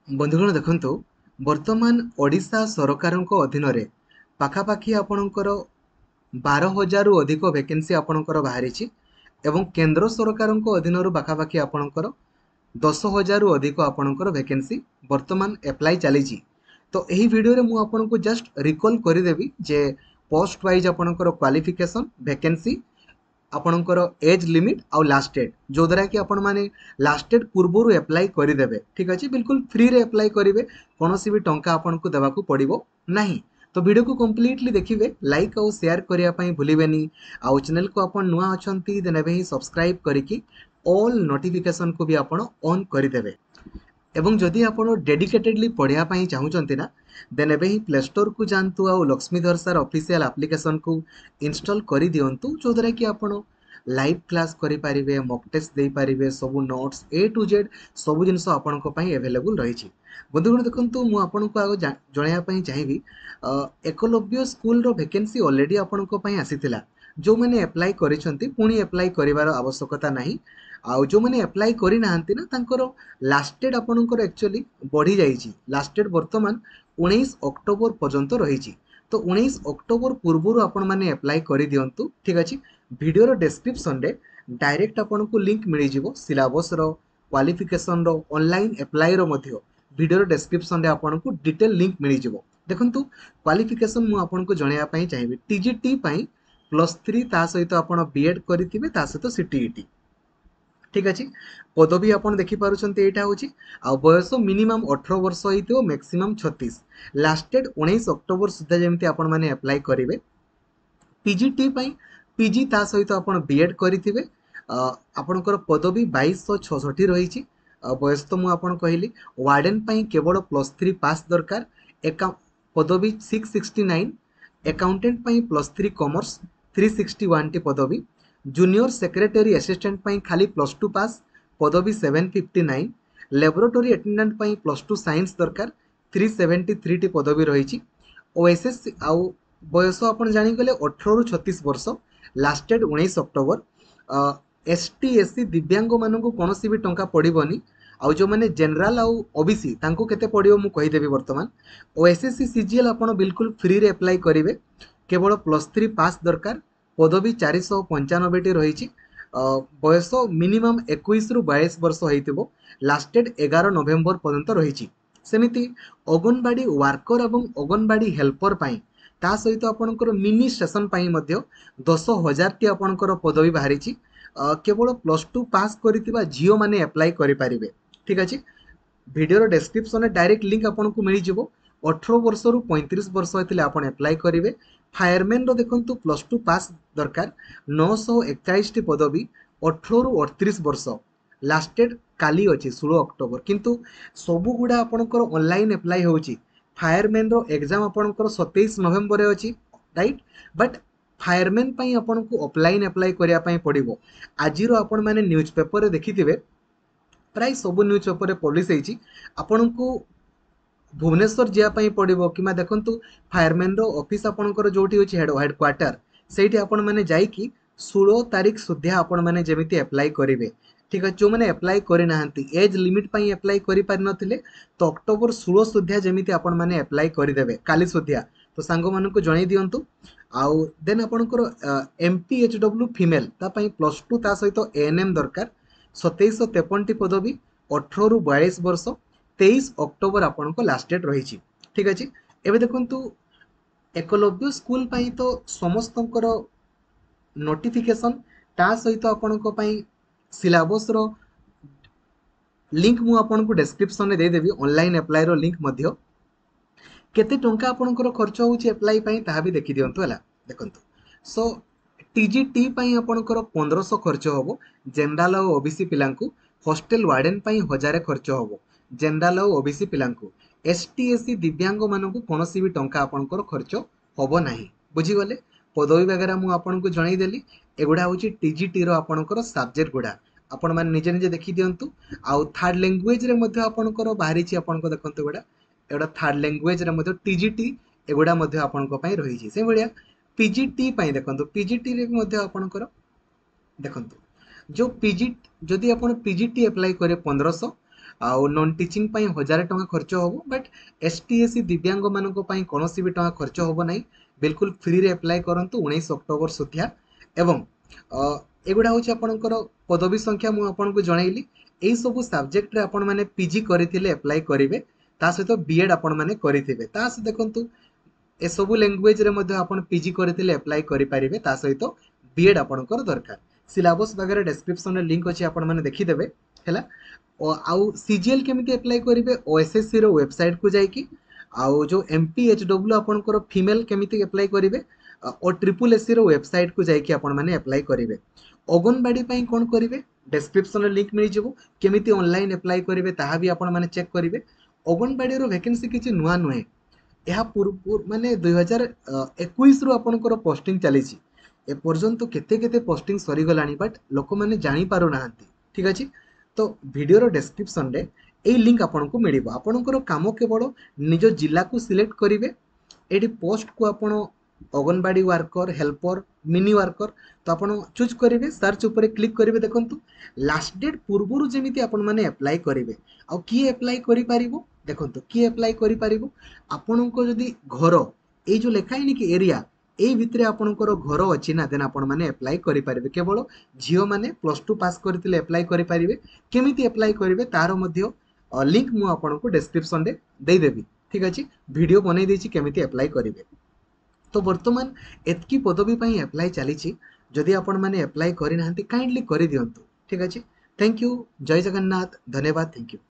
ବନ୍ଧୁଗଣ ଦେଖନ୍ତୁ, ବର୍ତ୍ତମାନ ଓଡ଼ିଶା ସରକାରଙ୍କ ଅଧୀନରେ ପାଖାପାଖି ଆପଣଙ୍କର 12,000ରୁ ଅଧିକ ଭେକେନ୍ସି ଆପଣଙ୍କର ବାହାରିଛି ଏବଂ କେନ୍ଦ୍ର ସରକାରଙ୍କ ଅଧୀନରୁ ପାଖାପାଖି ଆପଣଙ୍କର 10,000ରୁ ଅଧିକ ଆପଣଙ୍କର ଭେକେନ୍ସି ବର୍ତ୍ତମାନ ଆପ୍ଲାଏ ଚାଲିଛି। ତ ଏହି ଭିଡ଼ିଓରେ ମୁଁ ଆପଣଙ୍କୁ ଜଷ୍ଟ ରିକଲ୍ କରିଦେବି ଯେ ପୋଷ୍ଟ ୱାଇଜ୍ ଆପଣଙ୍କର କ୍ୱାଲିଫିକେସନ୍, ଭେକେନ୍ସି, ଆପଣଙ୍କର ଏଜ୍ ଲିମିଟ୍ ଆଉ ଲାଷ୍ଟ ଡେଟ୍, ଯେଉଁଦ୍ୱାରା କି ଆପଣମାନେ ଲାଷ୍ଟ ଡେଟ୍ ପୂର୍ବରୁ ଆପ୍ଲାଏ କରିଦେବେ। ଠିକ୍ ଅଛି, ବିଲକୁଲ ଫ୍ରିରେ ଆପ୍ଲାଏ କରିବେ, କୌଣସି ବି ଟଙ୍କା ଆପଣଙ୍କୁ ଦେବାକୁ ପଡ଼ିବ ନାହିଁ। ତ ଭିଡ଼ିଓକୁ କମ୍ପ୍ଲିଟଲି ଦେଖିବେ, ଲାଇକ୍ ଆଉ ସେୟାର କରିବା ପାଇଁ ଭୁଲିବେନି। ଆଉ ଚ୍ୟାନେଲକୁ ଆପଣ ନୂଆ ଅଛନ୍ତି, ଦେନ୍ ଏବେ ହିଁ ସବସ୍କ୍ରାଇବ୍ କରିକି ଅଲ୍ ନୋଟିଫିକେସନ୍କୁ ବି ଆପଣ ଅନ୍ କରିଦେବେ। ଏବଂ ଯଦି ଆପଣ ଡେଡିକେଟେଡ଼ଲି ପଢ଼ିବା ପାଇଁ ଚାହୁଁଛନ୍ତି ନା, ଦେନ୍ ଏବେ ହିଁ ପ୍ଲେ ଷ୍ଟୋରକୁ ଯାଆନ୍ତୁ ଆଉ ଲକ୍ଷ୍ମୀଧର ସାର୍ ଅଫିସିଆଲ୍ ଆପ୍ଲିକେସନ୍କୁ ଇନଷ୍ଟଲ୍ କରିଦିଅନ୍ତୁ, ଯେଉଁଦ୍ୱାରା କି ଆପଣ ଲାଇଭ୍ କ୍ଲାସ୍ କରିପାରିବେ, ମକ୍ ଟେଷ୍ଟ ଦେଇପାରିବେ, ସବୁ ନୋଟ୍ସ ଏ ଟୁ ଜେଡ଼୍ ସବୁ ଜିନିଷ ଆପଣଙ୍କ ପାଇଁ ଆଭେଲେବୁଲ୍ ରହିଛି। ବନ୍ଧୁଗଣ ଦେଖନ୍ତୁ, ମୁଁ ଆପଣଙ୍କୁ ଆଗ ଜଣାଇବା ପାଇଁ ଚାହିଁବି, ଏକଲବ୍ୟ ସ୍କୁଲର ଭେକେନ୍ସି ଅଲରେଡ଼ି ଆପଣଙ୍କ ପାଇଁ ଆସିଥିଲା। ଯେଉଁମାନେ ଆପ୍ଲାଏ କରିଛନ୍ତି, ପୁଣି ଆପ୍ଲାଏ କରିବାର ଆବଶ୍ୟକତା ନାହିଁ। ଆଉ ଯେଉଁମାନେ ଆପ୍ଲାଏ କରିନାହାନ୍ତି ନା, ତାଙ୍କର ଲାଷ୍ଟ ଡେଟ୍ ଆପଣଙ୍କର ଆକ୍ଚୁଆଲି ବଢ଼ିଯାଇଛି। ଲାଷ୍ଟ ଡେଟ୍ ବର୍ତ୍ତମାନ 19 ଅକ୍ଟୋବର ପର୍ଯ୍ୟନ୍ତ ରହିଛି। ତ 19 ଅକ୍ଟୋବର ପୂର୍ବରୁ ଆପଣମାନେ ଆପ୍ଲାଏ କରିଦିଅନ୍ତୁ। ଠିକ୍ ଅଛି, ଭିଡ଼ିଓର ଡେସ୍କ୍ରିପସନ୍ରେ ଡାଇରେକ୍ଟ ଆପଣଙ୍କୁ ଲିଙ୍କ୍ ମିଳିଯିବ, ସିଲାବସ୍ର, କ୍ୱାଲିଫିକେସନ୍ର, ଅନଲାଇନ୍ ଆପ୍ଲାଏର ମଧ୍ୟ ଭିଡ଼ିଓର ଡେସ୍କ୍ରିପସନ୍ରେ ଆପଣଙ୍କୁ ଡିଟେଲ୍ ଲିଙ୍କ୍ ମିଳିଯିବ। ଦେଖନ୍ତୁ, କ୍ୱାଲିଫିକେସନ୍ ମୁଁ ଆପଣଙ୍କୁ ଜଣାଇବା ପାଇଁ ଚାହିଁବି, ଟି ଜି ଟି ପାଇଁ +3, ତା ସହିତ ଆପଣ ବି ଏଡ଼୍ କରିଥିବେ, ତା ସହିତ ସି ଟି ଇ ଟି। ଠିକ୍ ଅଛି, ପଦବୀ ଆପଣ ଦେଖିପାରୁଛନ୍ତି ଏଇଟା ହେଉଛି, ଆଉ ବୟସ ମିନିମମ୍ 18 ବର୍ଷ ହେଇଥିବ, ମ୍ୟାକ୍ସିମମ୍ 36। ଲାଷ୍ଟ ଡେଟ୍ 19 ଅକ୍ଟୋବର ସୁଦ୍ଧା ଯେମିତି ଆପଣମାନେ ଆପ୍ଲାଏ କରିବେ। ପି ଜି ଟି ପାଇଁ ପି ଜି, ତା ସହିତ ଆପଣ ବି ଏଡ଼୍ କରିଥିବେ। ଆପଣଙ୍କର ପଦବୀ 2266 ରହିଛି। ବୟସ ତ ମୁଁ ଆପଣ କହିଲି। ୱାର୍ଡ଼େନ୍ ପାଇଁ କେବଳ +3 ପାସ୍ ଦରକାର, ଏକା ପଦବୀ 669। ଆକାଉଣ୍ଟାଣ୍ଟ ପାଇଁ +3 କମର୍ସ, 361ଟି ପଦବୀ। ଜୁନିୟର ସେକ୍ରେଟାରୀ ଆସିଷ୍ଟାଣ୍ଟ ପାଇଁ ଖାଲି +2 ପାସ୍, ପଦବୀ 759। ଲାବୋରେଟୋରୀ ଆଟେଣ୍ଡାଣ୍ଟ ପାଇଁ +2 ସାଇନ୍ସ ଦରକାର, 373ଟି ପଦବୀ ରହିଛି। ଓ ଏସ୍ ଏସ୍ ସି, ଆଉ ବୟସ ଆପଣ ଜାଣିଗଲେ 18ରୁ 36 ବର୍ଷ, last date 19 October. S T, S C, ଦିବ୍ୟାଙ୍ଗମାନଙ୍କୁ କୌଣସି ବି ଟଙ୍କା ପଡ଼ିବନି। ଆଉ ଯେଉଁମାନେ ଜେନେରାଲ ଆଉ ଓ ବି ସି, ତାଙ୍କୁ କେତେ ପଡ଼ିବ ମୁଁ କହିଦେବି ବର୍ତ୍ତମାନ। ଓ S S C C G L ଆପଣ ବିଲକୁଲ ଫ୍ରିରେ ଆପ୍ଲାଏ କରିବେ, କେବଳ +3 ପାସ୍ ଦରକାର, ପଦବୀ 495ଟି ରହିଛି। ବୟସ ମିନିମମ୍ 21ରୁ 22 ବର୍ଷ ହେଇଥିବ, ଲାଷ୍ଟ ଡେଟ୍ 11 ନଭେମ୍ବର ପର୍ଯ୍ୟନ୍ତ ରହିଛି। ସେମିତି ଅଙ୍ଗନବାଡ଼ି ୱାର୍କର ଏବଂ ଅଙ୍ଗନବାଡ଼ି ହେଲ୍ପର ପାଇଁ, ତା ସହିତ ଆପଣଙ୍କର ମିନି ଷ୍ଟେସନ ପାଇଁ ମଧ୍ୟ 10,000ଟି ଆପଣଙ୍କର ପଦବୀ ବାହାରିଛି। କେବଳ +2 ପାସ୍ କରିଥିବା ଝିଅମାନେ ଆପ୍ଲାଏ କରିପାରିବେ। ଠିକ୍ ଅଛି, ଭିଡ଼ିଓର ଡେସ୍କ୍ରିପସନରେ ଡାଇରେକ୍ଟ ଲିଙ୍କ୍ ଆପଣଙ୍କୁ ମିଳିଯିବ। 18 ବର୍ଷରୁ 35 ବର୍ଷ ହେଇଥିଲେ ଆପଣ ଆପ୍ଲାଏ କରିବେ। ଫାୟାରମ୍ୟାନ୍ର ଦେଖନ୍ତୁ, +2 ପାସ୍ ଦରକାର, 941ଟି ପଦବୀ, 18ରୁ 38 ବର୍ଷ, ଲାଷ୍ଟ ଡେଟ୍ କାଲି ଅଛି 16 ଅକ୍ଟୋବର। କିନ୍ତୁ ସବୁଗୁଡ଼ା ଆପଣଙ୍କର ଅନଲାଇନ୍ ଆପ୍ଲାଏ ହେଉଛି। ଫାୟାରମ୍ୟାନ୍ର ଏକ୍ଜାମ୍ ଆପଣଙ୍କର 27 ନଭେମ୍ବରରେ ଅଛି, ରାଇଟ୍? ବଟ୍ ଫାୟାରମ୍ୟାନ୍ ପାଇଁ ଆପଣଙ୍କୁ ଅଫଲାଇନ୍ ଆପ୍ଲାଏ କରିବା ପାଇଁ ପଡ଼ିବ। ଆଜିର ଆପଣମାନେ ନ୍ୟୁଜ୍ ପେପରରେ ଦେଖିଥିବେ, ପ୍ରାୟ ସବୁ ନ୍ୟୁଜ୍ ପେପରରେ ପବ୍ଲିଶ ହେଇଛି, ଆପଣଙ୍କୁ ଭୁବନେଶ୍ୱର ଯିବା ପାଇଁ ପଡ଼ିବ କିମ୍ବା ଦେଖନ୍ତୁ ଫାୟାରମ୍ୟାନ୍ର ଅଫିସ୍ ଆପଣଙ୍କର ଯେଉଁଠି ଅଛି ହେଡ଼୍ କ୍ୱାର୍ଟର, ସେଇଠି ଆପଣମାନେ ଯାଇକି 16 ତାରିଖ ସୁଦ୍ଧା ଆପଣମାନେ ଯେମିତି ଆପ୍ଲାଏ କରିବେ। ଠିକ୍ ଅଛି, ଯେଉଁମାନେ ଆପ୍ଲାଏ କରିନାହାନ୍ତି, ଏଜ୍ ଲିମିଟ୍ ପାଇଁ ଆପ୍ଲାଏ କରିପାରିନଥିଲେ, ତ ଅକ୍ଟୋବର 16 ସୁଦ୍ଧା ଯେମିତି ଆପଣମାନେ ଆପ୍ଲାଏ କରିଦେବେ, କାଲି ସୁଦ୍ଧା। ତ ସାଙ୍ଗମାନଙ୍କୁ ଜଣାଇ ଦିଅନ୍ତୁ। ଆଉ ଦେନ୍ ଆପଣଙ୍କର M P H W female, ତା ପାଇଁ +2, ତା ସହିତ ଏ ଏନ୍ ଏମ୍ ଦରକାର, 2753ଟି ପଦବୀ, 18ରୁ 42 ବର୍ଷ, 23 ଅକ୍ଟୋବର ଆପଣଙ୍କ ଲାଷ୍ଟ ଡେଟ୍ ରହିଛି। ଠିକ୍ ଅଛି, ଏବେ ଦେଖନ୍ତୁ, ଏକଲବ୍ୟ ସ୍କୁଲ ପାଇଁ ତ ସମସ୍ତଙ୍କର ନୋଟିଫିକେସନ୍, ତା ସହିତ ଆପଣଙ୍କ ପାଇଁ ସିଲାବସ୍ର ଲିଙ୍କ୍ ମୁଁ ଆପଣଙ୍କୁ ଡେସ୍କ୍ରିପସନ୍ରେ ଦେଇଦେବି, ଅନଲାଇନ୍ ଆପ୍ଲାଏର ଲିଙ୍କ୍ ମଧ୍ୟ। କେତେ ଟଙ୍କା ଆପଣଙ୍କର ଖର୍ଚ୍ଚ ହେଉଛି ଆପ୍ଲାଏ ପାଇଁ, ତାହା ବି ଦେଖିଦିଅନ୍ତୁ। ହେଲା, ଦେଖନ୍ତୁ, ସୋ ଟି ଜି ଟି ପାଇଁ ଆପଣଙ୍କର 1500 ଖର୍ଚ୍ଚ ହେବ ଜେନେରାଲ ଆଉ ଓ ବି ସି ପିଲାଙ୍କୁ। ହଷ୍ଟେଲ ୱାର୍ଡ଼େନ୍ ପାଇଁ 1000 ଖର୍ଚ୍ଚ ହେବ ଜେନେରାଲ ଆଉ ଓ ବି ସି ପିଲାଙ୍କୁ। ଏସ୍ ଟି, ଏସ୍ ସି, ଦିବ୍ୟାଙ୍ଗମାନଙ୍କୁ କୌଣସି ବି ଟଙ୍କା ଆପଣଙ୍କର ଖର୍ଚ୍ଚ ହେବ ନାହିଁ। ବୁଝିଗଲେ? ପଦବୀ ବଗେରା ମୁଁ ଆପଣଙ୍କୁ ଜଣାଇଦେଲି। ଏଗୁଡ଼ା ହେଉଛି ଟି ଜି ଟିର ଆପଣଙ୍କର ସବଜେକ୍ଟ ଗୁଡ଼ା, ଆପଣମାନେ ନିଜେ ନିଜେ ଦେଖିଦିଅନ୍ତୁ। ଆଉ ଥାର୍ଡ଼ ଲାଙ୍ଗୁଏଜରେ ମଧ୍ୟ ଆପଣଙ୍କର ବାହାରିଛି ଆପଣଙ୍କ, ଦେଖନ୍ତୁ ଏଗୁଡ଼ା ଥାର୍ଡ଼ ଲାଙ୍ଗୁଏଜରେ ମଧ୍ୟ ଟି ଜି ଟି ଏଗୁଡ଼ା ମଧ୍ୟ ଆପଣଙ୍କ ପାଇଁ ରହିଛି। ସେଇଭଳିଆ ପି ଜି ଟି ପାଇଁ ଦେଖନ୍ତୁ, ପି ଜି ଟିରେ ବି ମଧ୍ୟ ଆପଣଙ୍କର ଦେଖନ୍ତୁ, ଯେଉଁ ପି ଜି, ଯଦି ଆପଣ ପି ଜି ଟି ଆପ୍ଲାଏ କରିବେ 1500। ଆଉ ନନ୍ ଟିଚିଂ ପାଇଁ 1000 ଟଙ୍କା ଖର୍ଚ୍ଚ ହେବ। But S T, S C, ଦିବ୍ୟାଙ୍ଗମାନଙ୍କ ପାଇଁ କୌଣସି ବି ଟଙ୍କା ଖର୍ଚ୍ଚ ହେବ ନାହିଁ। ବିଲକୁଲ ଫ୍ରିରେ ଆପ୍ଲାଏ କରନ୍ତୁ 19 ଅକ୍ଟୋବର ସୁଦ୍ଧା। ଏବଂ ଏଗୁଡ଼ା ହେଉଛି ଆପଣଙ୍କର ପଦବୀ ସଂଖ୍ୟା, ମୁଁ ଆପଣଙ୍କୁ ଜଣାଇଲି। ଏଇସବୁ ସବଜେକ୍ଟରେ ଆପଣମାନେ ପି ଜି କରିଥିଲେ ଆପ୍ଲାଏ କରିବେ, ତା ସହିତ ବି ଏଡ଼୍ ଆପଣମାନେ କରିଥିବେ। ତା ସହିତ ଦେଖନ୍ତୁ, ଏସବୁ ଲାଙ୍ଗୁଏଜରେ ମଧ୍ୟ ଆପଣ ପି ଜି କରିଥିଲେ ଆପ୍ଲାଏ କରିପାରିବେ, ତା ସହିତ ବି ଏଡ଼୍ ଆପଣଙ୍କର ଦରକାର। ସିଲାବସ୍ ବଗେରା ଡେସ୍କ୍ରିପସନ୍ରେ ଲିଙ୍କ୍ ଅଛି, ଆପଣମାନେ ଦେଖିଦେବେ। ହେଲା, ଆଉ ସି ଜି ଏଲ୍ କେମିତି ଆପ୍ଲାଏ କରିବେ? ଓ ଏସ୍ ଏସ୍ ସିର ୱେବସାଇଟ୍କୁ ଯାଇକି। ଆଉ ଯେଉଁ ଏମ୍ ପି ଏଚ୍ ଡବ୍ଲ୍ୟୁ ଆପଣଙ୍କର ଫିମେଲ୍ କେମିତି ଆପ୍ଲାଏ କରିବେ? ଓ ଟ୍ରିପୁଲ୍ ଏସ୍ ସିର ୱେବସାଇଟ୍କୁ ଯାଇକି ଆପଣମାନେ ଆପ୍ଲାଏ କରିବେ। ଅଙ୍ଗନବାଡ଼ି ପାଇଁ କ'ଣ କରିବେ? ଡେସ୍କ୍ରିପସନ୍ରେ ଲିଙ୍କ୍ ମିଳିଯିବ, କେମିତି ଅନଲାଇନ୍ ଆପ୍ଲାଏ କରିବେ ତାହା ବି ଆପଣମାନେ ଚେକ୍ କରିବେ। ଅଙ୍ଗନବାଡ଼ିର ଭ୍ୟାକେନ୍ସି କିଛି ନୂଆ ନୁହେଁ, ଏହା ପୂର୍ବ ମାନେ 2021ରୁ ଆପଣଙ୍କର ପୋଷ୍ଟିଂ ଚାଲିଛି। ଏପର୍ଯ୍ୟନ୍ତ କେତେ କେତେ ପୋଷ୍ଟିଂ ସରିଗଲାଣି, ବଟ୍ ଲୋକମାନେ ଜାଣିପାରୁନାହାନ୍ତି। ଠିକ୍ ଅଛି, ତ ଭିଡ଼ିଓର ଡେସ୍କ୍ରିପସନ୍ରେ ଏଇ ଲିଙ୍କ୍ ଆପଣଙ୍କୁ ମିଳିବ। ଆପଣଙ୍କର କାମ କେବଳ ନିଜ ଜିଲ୍ଲାକୁ ସିଲେକ୍ଟ କରିବେ। ଏଇଠି ପୋଷ୍ଟକୁ ଆପଣ anganwadi worker, helper, mini worker ତ ଆପଣ ଚୁଜ୍ କରିବେ, ସର୍ଚ୍ଚ ଉପରେ କ୍ଲିକ୍ କରିବେ। ଦେଖନ୍ତୁ, ଲାଷ୍ଟ ଡେଟ୍ ପୂର୍ବରୁ ଯେମିତି ଆପଣମାନେ ଆପ୍ଲାଏ କରିବେ। ଆଉ କିଏ ଆପ୍ଲାଏ କରିପାରିବ? ଦେଖନ୍ତୁ, କିଏ ଆପ୍ଲାଏ କରିପାରିବ? ଆପଣଙ୍କ ଯଦି ଘର ଏଇ ଯେଉଁ ଲେଖା ହେଇନି କି ଏରିଆ, ଏଇ ଭିତରେ ଆପଣଙ୍କର ଘର ଅଛି ନା, ଦେନ୍ ଆପଣମାନେ ଆପ୍ଲାଏ କରିପାରିବେ। କେବଳ ଝିଅମାନେ +2 ପାସ୍ କରିଥିଲେ ଆପ୍ଲାଏ କରିପାରିବେ। କେମିତି ଆପ୍ଲାଏ କରିବେ ତାର ମଧ୍ୟ ଲିଙ୍କ୍ ମୁଁ ଆପଣଙ୍କୁ ଡେସ୍କ୍ରିପସନ୍ରେ ଦେଇଦେବି। ଠିକ୍ ଅଛି, ଭିଡ଼ିଓ ବନେଇ ଦେଇଛି କେମିତି ଆପ୍ଲାଏ କରିବେ। ତ ବର୍ତ୍ତମାନ ଏତିକି ପଦବୀ ପାଇଁ ଆପ୍ଲାଏ ଚାଲିଛି। ଯଦି ଆପଣମାନେ ଆପ୍ଲାଏ କରିନାହାନ୍ତି, କାଇଣ୍ଡଲି କରିଦିଅନ୍ତୁ। ଠିକ୍ ଅଛି, thank you, Jay Jagannath, ଧନ୍ୟବାଦ, thank you.